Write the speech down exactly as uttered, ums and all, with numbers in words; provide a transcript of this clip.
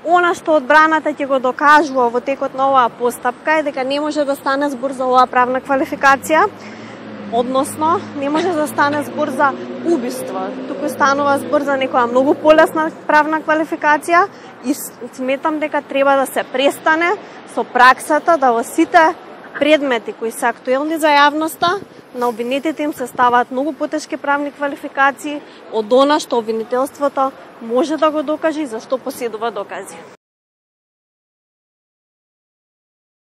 Она што одбраната ќе го докажува во текот на оваа постапка е дека не може да стане збор за оваа правна квалификација, односно не може да стане збор за убиство, туку станува збор за некоја многу полесна правна квалификација и сметам дека треба да се престане со праксата да во сите предмети кои се актуелни за јавноста, на обвинетите им се ставаат многу потешки правни квалификации од она што обвинителството може да го докаже и за што поседува докази.